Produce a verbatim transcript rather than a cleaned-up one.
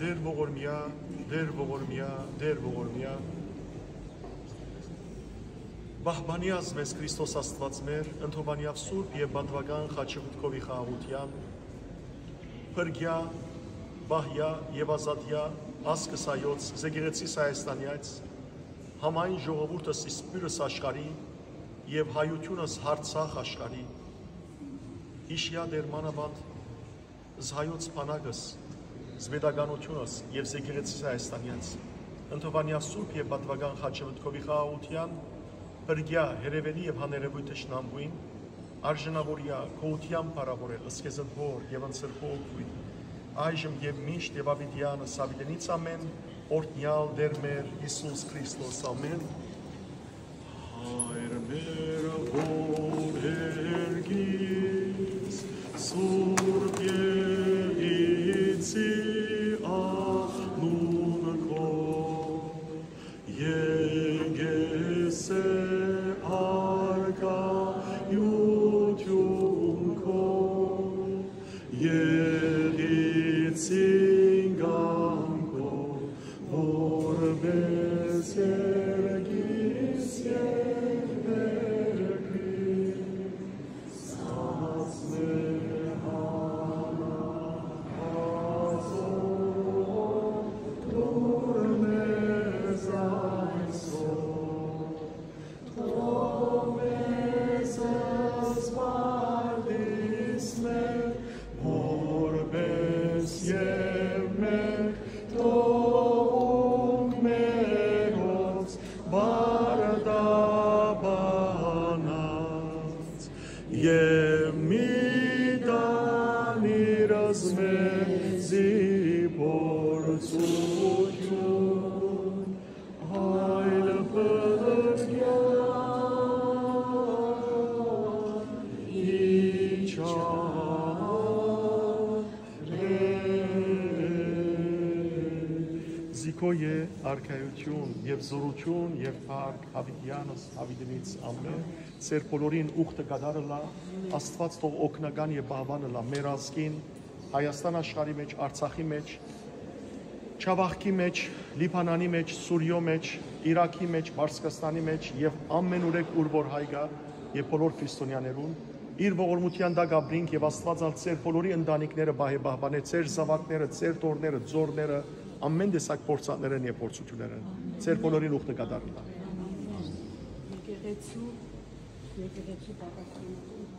Տեր ողորմեայ, Տեր ողորմեայ, Տեր ողորմեայ։ Պահպանեազ մեզ Քրիստոս Աստուած մեր, ընդհովանեաւ սուրբ եւ պատուական խաչըմբի խաղաղութեան, փրկեայ, պահեայ եւ ազատեայ ազգս հայոց, զեկեղեցիս Հայաստանեայց, համայն ժողովուրդս, սփիւռս աշխարհի եւ հայութիւնս յարցախ աշխարհի։ Յիշեայ Տեր մանաւանդ զհայոց բանակս, զպետականութիւնս եւ զեկեղեցիս Հայաստանեայց, ընդհովանեայ սուրբ եւ պատուական խաչըմբի խաղաղութեան, փրկեայ հեռաւելի եւ հաներեւոյթ թշնամուին, արժանաւորեայ գոհութեան փառաւորել զքեզն Հօր եւ Ընծր Հոգիին, այժմ եւ միշտ եւ աւիտեանս աւիտենից ամէն, օրհնեալ Տեր մեր Յիսուս Քրիստոս, ամէն։ Հայր մեր, որ երկիր ես, սուրբ եղեցի անուն քո, եկես է առկայութիւն քո, եղեցին կամքով, որպէս երկիր ես, երկիր, սաղած մեր հանա, Քո է արքայութիւն եւ զօրութիւն եւ փառք յաւիտեանս յաւիտենից ամէն։ Ձեր բոլորին ուխտը կատարը լա, Աստուած թող օգնական եւ պահպան ըլլայ մեր ազգին, Հայաստան աշխարհի մէջ, Արցախի մէջ, Չավախքի մէջ, Լիբանանի մէջ, Սուրիոյ մէջ, Իրաքի մէջ, Պարսկաստանի մէջ եւ ամէն ուրեք ուր որ հայ կայ եւ բոլոր քրիստոնեաներուն, իր ողորմութեան տակ ապրինք եւ Աստուած ալ ձեր բոլորի ընտանիքները պահէ պահպանէ, ձեր զաւակները, ձեր թոռները, ձորները, ամէն տեսակ փորձանքներէն եւ փորձութիւններէն։ Ձեր բոլորին ուխտը կատարը լա։ Եկեղեցու, եկեղեցու պատասխանատուն